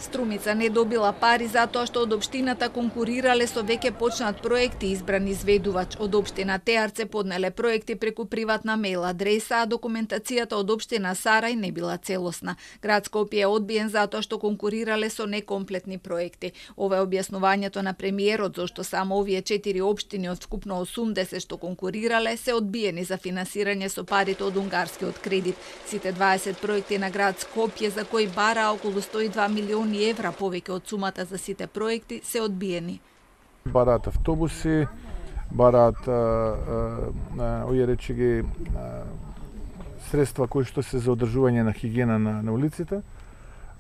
Струмица не добила пари затоа што од општината конкурирале со веќе почнат проекти. Избран изведувач од општина Теарце поднеле проекти преку приватна мејл адреса, а документацијата од општина Сарај не била целосна. Град Скопје е одбиен затоа што конкурирале со некомплетни проекти. Ова е објаснувањето на премиерот зашто само овие 4 општини од вкупно 80 што конкурирале се одбиени за финансирање со парите од унгарскиот кредит. Сите 20 проекти на град Скопје за кои бара околу 102 милиони евра повеќе од сумата за сите проекти се одбиени. Бараат автобуси, бараат средства кои што се за одржување на хигиена на улиците,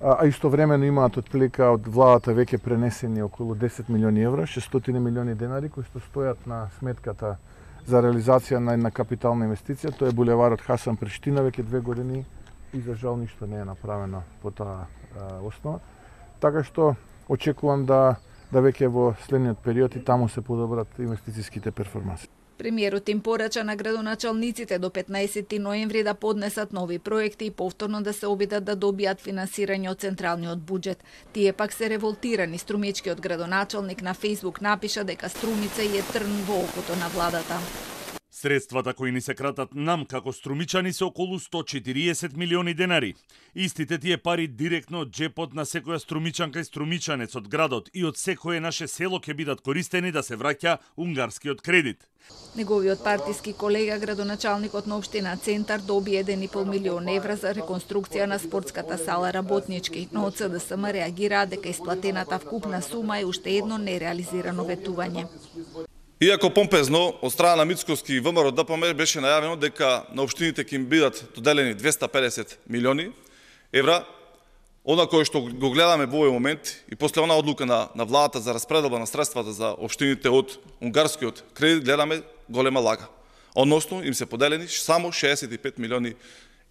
а истовремено имаат отплика од владата веќе пренесени околу 10 милиони евра, 600 милиони денари кои што стојат на сметката за реализација на една капитална инвестиција. Тоа е булеварот Хасан Приштина, веќе 2 години и за жал ништо не е направено по таа основа. Така што очекувам да веќе во следниот период и таму се подобрат инвестицијските перформанси. Премиерот им порача на градоначалниците до 15 ноември да поднесат нови проекти и повторно да се обидат да добијат финансирање од централниот буџет. Тие пак се револтирани. Струмичкиот градоначалник на Фејсбук напиша дека Струмица е трн во окото на владата. Средствата кои ни се кратат нам како струмичани се околу 140 милиони денари. Истите тие пари директно од джепот на секоја струмичанка и струмичанец од градот и од секое наше село ќе бидат користени да се враќа унгарскиот кредит. Неговиот партиски колега, градоначалникот на општина Центар, доби 1,5 милион евра за реконструкција на спортската сала Работнички, но од СДСМ реагираа дека исплатената вкупна сума е уште едно нереализирано ветување. Иако помпезно од страна на Мицковски и ВМРО ДПМ беше најавено дека на општините ќе им бидат доделени 250 милиони евра, она кое што го гледаме во овој момент и после она одлука на владата за распределба на средствата за општините од унгарскиот кредит, гледаме голема лага. Односно им се поделени само 65 милиони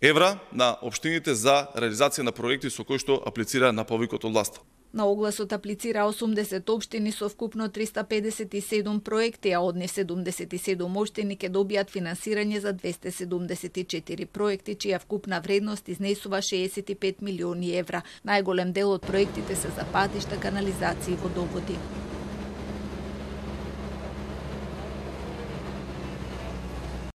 евра на општините за реализација на проекти со кои што аплицира на повикот од власта. На огласот аплицира 80 општини со вкупно 357 проекти, а од нив 77 општини ќе добијат финансирање за 274 проекти, чија вкупна вредност изнесува 65 милиони евра. Најголем дел од проектите се за патишта, канализации и водоводи.